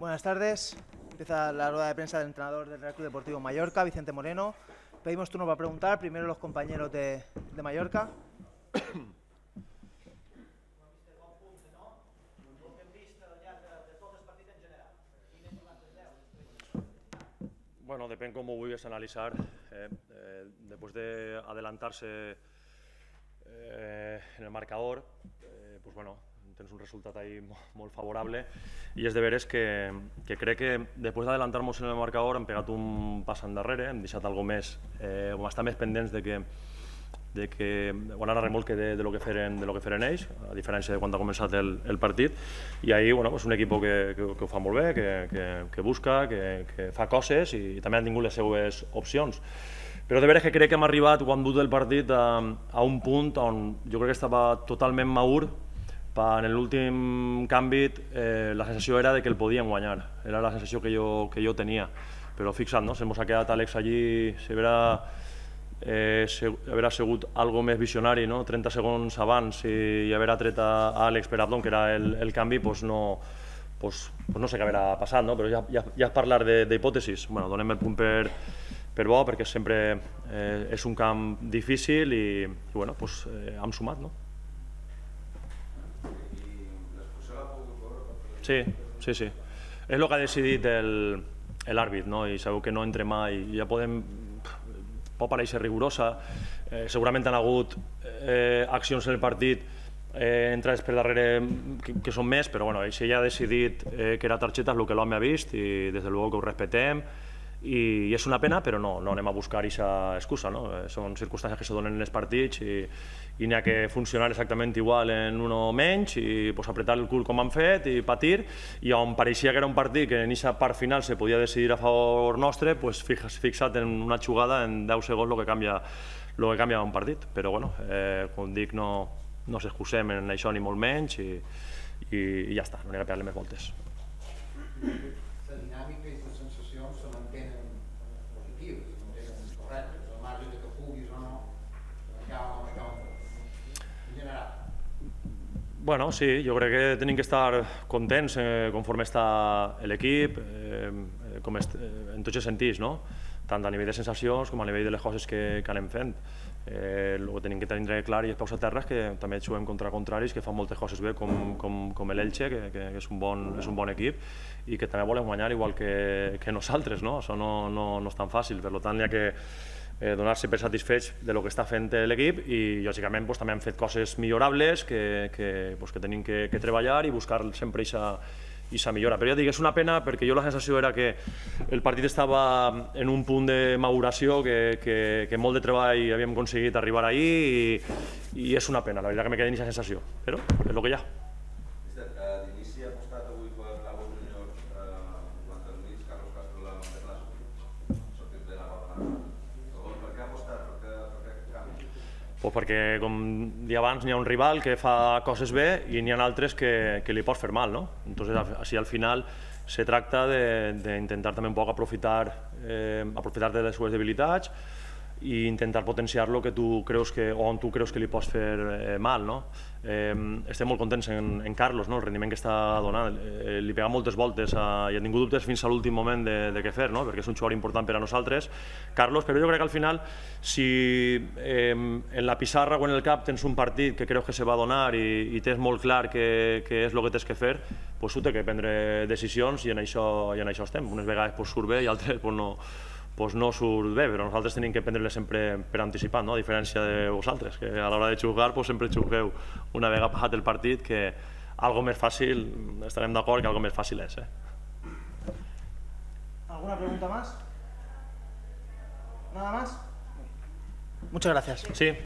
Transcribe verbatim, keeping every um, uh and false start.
Buenas tardes. Empieza la rueda de prensa del entrenador del Real Club Deportivo Mallorca, Vicente Moreno. Pedimos turno para preguntar. Primero los compañeros de, de Mallorca. Bueno, depèn com ho vulguis analitzar. Eh, eh, després d'adelantar-se eh, en el marcador, eh, pues bueno, tens un resultat ahí molt favorable i és de veres que, que crec que després d'adelantar-nos en el marcador hem pegat un pas endarrere, hem deixat algo més, eh, o estar més pendents de que de que van anar a remolque de, de lo que feren de lo que feren ells, a diferència de quan ha començat el, el partit, i ahí bueno, és un equip que, que, que ho fa molt bé, que, que, que busca, que, que fa coses i també han tingut les seues opcions. Però de veres que crec que hem arribat, quan dut del partit, a, a un punt on jo crec que estava totalment madur. En l'últim canvi eh, la sensació era de que el podíem guanyar, era la sensació que jo, que jo tenia, però fixa't, no? Se mos ha quedat Àlex allí, se verà Eh, haver sigut algo més visionari, no? trenta segons abans i haver atret a Àlex per Abdon, que era el, el canvi, pues no, pues, pues no sé què haurà passat, no? Però ja, ja, ja és parlar d'hipòtesis. Bueno, donem el punt per, per bo, perquè sempre eh, és un camp difícil i, i bueno, pues, eh, hem sumat, no? Sí, sí, sí. És el que ha decidit l'àrbit, no? I sabeu que no entre mai, ja podem... pot parèixer rigorosa, eh, segurament han hagut eh, accions en el partit eh, entrades per darrere que, que són més, però bueno, si ella ha decidit eh, que era targeta és el que l'home ha vist i des de luego que ho respetem i, i és una pena, però no, no anem a buscar aquesta excusa, no? Eh, són circumstàncies que se donen en els partits i, i n'hi ha que funcionar exactament igual en uno menys i pues, apretar el cul com han fet i patir, i on pareixia que era un partit que en aquesta part final se podia decidir a favor nostre, pues, fixa't en una jugada en deu segons el que canvia, el que canvia un partit, però bueno, eh, com dic, no, no s'excusem en això ni molt menys i, i, i ja està, no n'hi ha que pegar-li més voltes. La dinàmica i les sensacions se mantenen positives, se mantenen correctes, al marge de que puguis o no acaba amb acaba en general. Bueno, sí, jo crec que tenim que estar contents eh, conforme està l'equip, eh, com est, eh, en tots els sentits, no? Tant a nivell de sensacions com a nivell de les coses que, que anem fent. Eh, el que tenim que tenir clar i és peus a terra és que també juguem contra contraris que fan moltes coses bé, com, com, com l'Elche, que, que és, un bon, és un bon equip i que també volen guanyar igual que, que nosaltres, no? Això no, no, no és tan fàcil, per tant hi ha que eh, donar-se per satisfets de lo que està fent l'equip i lògicament pues, també hem fet coses millorables que, que, pues, que tenim que, que treballar i buscar sempre aquesta i s'ha millora. Però ja dic, és una pena perquè jo la sensació era que el partit estava en un punt de maduració que, que, que molt de treball havíem aconseguit arribar ahí i, i és una pena, la veritat que me queda en aquesta sensació, però és el que hi ha. D'inici ha apostat avui per l'Alba Júnior quan el mig Carlos Castro l'ha sortit de la roda. Per què ha apostat? Per què canvi? Pues perquè, com dia abans, n'hi ha un rival que fa coses bé i n'hi ha altres que, que li pots fer mal, no? Entonces, així al final se tracta d'intentar també un poc aprofitar, eh, aprofitar de les seves debilitats i intentar potenciar lo que tu creus que, o on tu creus que li pots fer eh, mal, no? Eh, estem molt contents en, en Carlos, no? El rendiment que està donant. Eh, li pega moltes voltes a, i ha tingut dubtes fins a l'últim moment de, de què fer, no? Perquè és un jugador important per a nosaltres, Carlos, però jo crec que al final, si eh, en la pissarra o en el cap tens un partit que creus que se va donar i, i tens molt clar que, que és el que tens que fer, pues tu té que prendre decisions i en això, i en això estem. Unes vegades pues, surt bé i altres pues, no, pues no surt bé, però nosaltres tenim que prendre-les sempre per anticipat, no? A diferència de vosaltres, que a l'hora de jugar pues, sempre jugueu una vegada passat el partit, que algo més fàcil, estarem d'acord que algo més fàcil és. Eh? ¿Alguna pregunta más? ¿Nada más? Muchas gracias. Sí.